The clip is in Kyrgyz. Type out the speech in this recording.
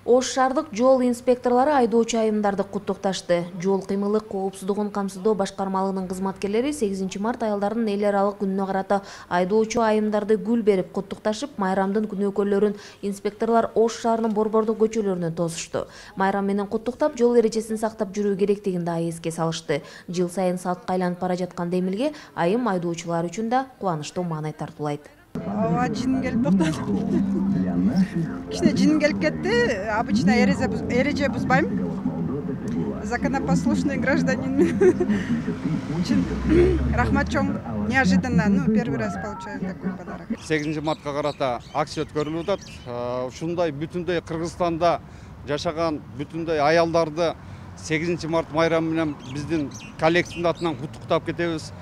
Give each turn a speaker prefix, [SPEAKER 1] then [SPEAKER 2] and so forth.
[SPEAKER 1] Ош шаардык жол инспекторлору айдоочу айымдарды куттукташты. Жол кыймылы коопсуздугун камсыздоо башкармалыгынын кызматкерлери 8 март айылдардын эл аралык күнүнө карата айдоочу айымдарды гүл берип куттукташып, майрамдын күнөөкөрлөрүн инспекторлор Ош шаарынын борбордук көчөлөрүнө тосушту. Майрам менен куттуктап, жол эрежесин сактап жүрүү керектигин да эске салышты. Жыл сайын салтка айланып бара жаткан демилге айым айдоочулар үчүн да кубанычтуу маанай тартуулайт.
[SPEAKER 2] Ооба, жиним келип токтоду. Кичине жиним келип кетти. Обычно эреже бузбайм. Законопослушный гражданин. Рахмат чоң. Неожиданно, первый раз получаю такой подарок.
[SPEAKER 3] 8 мартка карата акция өткөрүлүп атат. Ушундай бүтүндөй Кыргызстанда жашаган бүтүндөй аялдарды 8 март майрамы менен биздин коллективдин атынан куттуктап кетебиз.